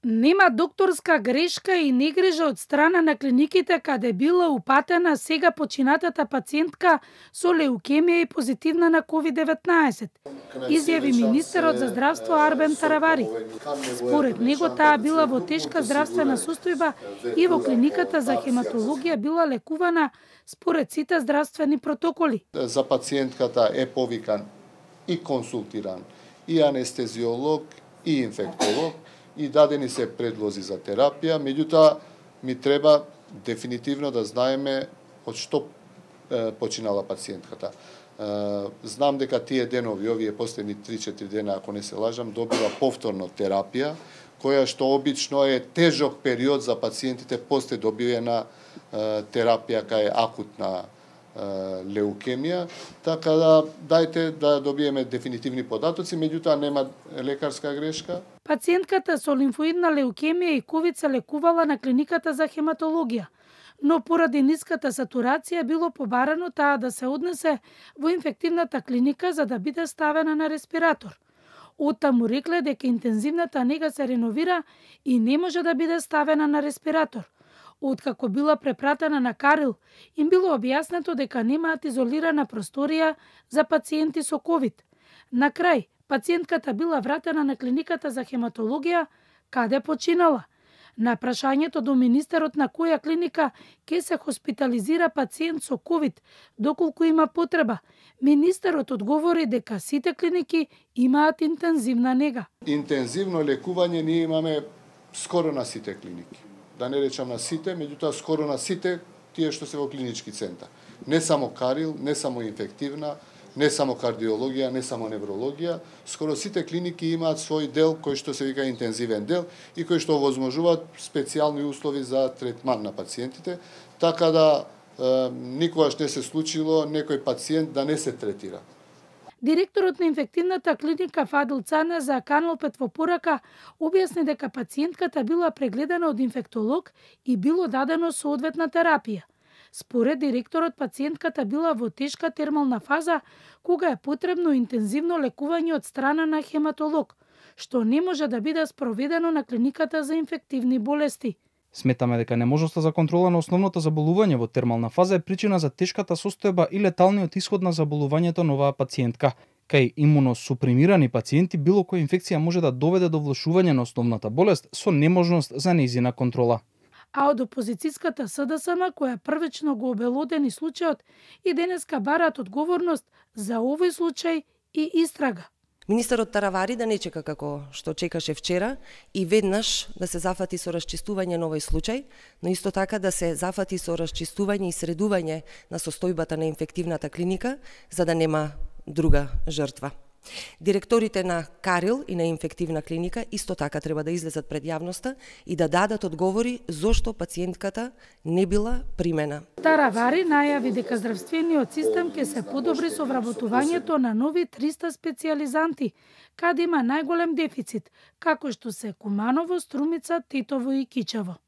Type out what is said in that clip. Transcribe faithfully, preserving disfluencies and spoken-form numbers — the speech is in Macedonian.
Нема докторска грешка и негрижа од страна на клиниките каде била упатена сега починатата пациентка со леукемија и позитивна на ковид деветнаесет, изјави министерот за здравство Арбен Таравари. Според него таа била во тешка здравствена состојба и во клиниката за хематологија била лекувана според сите здравствени протоколи. За пациентката е повикан и консултиран и анестезиолог и инфектолог и дадени се предлози за терапија, меѓутоа ми треба дефинитивно да знаеме од што е, починала пациентката. Е, знам дека тие денови, овие последни три-четири дена, ако не се лажам, добила повторно терапија, која што обично е тежок период за пациентите после добивена е, терапија кај акутна леукемија, така да дајте да добиеме дефинитивни податоци, меѓутоа нема лекарска грешка. Пациентката со лимфоидна леукемија и ковид се лекувала на клиниката за хематологија, но поради ниската сатурација било побарано таа да се однесе во инфективната клиника за да биде ставена на респиратор. Оттаму рекле дека интензивната нега се реновира и не може да биде ставена на респиратор. Откако била препратена на Карил, им било објаснето дека немаат изолирана просторија за пациенти со ковид. На крај, пациентката била вратена на клиниката за хематологија, каде починала. На прашањето до министерот на која клиника ќе се хоспитализира пациент со ковид, доколку има потреба, министерот одговори дека сите клиники имаат интензивна нега. Интензивно лекување ние имаме скоро на сите клиники. Да не речам на сите, меѓутоа скоро на сите тие што се во клинички центар. Не само Карил, не само инфективна, не само кардиологија, не само неврологија, скоро сите клиники имаат свој дел кој што се вика интензивен дел и кој што овозможуваат специјални услови за третман на пациентите, така да е, никогаш не се случило некој пациент да не се третира. Директорот на инфективната клиника Фадил Цана за Канал пет во порака објасни дека пациентката била прегледана од инфектолог и било дадено соодветна терапија. Според директорот, пациентката била во тешка термална фаза, кога е потребно интензивно лекување од страна на хематолог, што не може да биде спроведено на клиниката за инфективни болести. Сметаме дека неможноста за контрола на основното заболување во термална фаза е причина за тешката состојба и леталниот исход на заболувањето на оваа пациентка. Кај имуносупримирани пациенти било која инфекција може да доведе до влошување на основната болест со неможност за нејзина контрола. А од опозицијската СДСМ, која првично го обелодени случајот, и денеска бараат одговорност за овој случај и истрага. Министерот Таравари да не чека како што чекаше вчера и веднаш да се зафати со расчистување на овој случај, но исто така да се зафати со расчистување и средување на состојбата на инфективната клиника, за да нема друга жртва. Директорите на Карил и на инфективна клиника исто така треба да излезат пред јавноста и да дадат одговори зошто пациентката не била примена. Таравари најави дека здравствениот систем ќе се подобри со вработувањето на нови триста специјализанти, каде има најголем дефицит, како што се Куманово, Струмица, Титово и Кичево.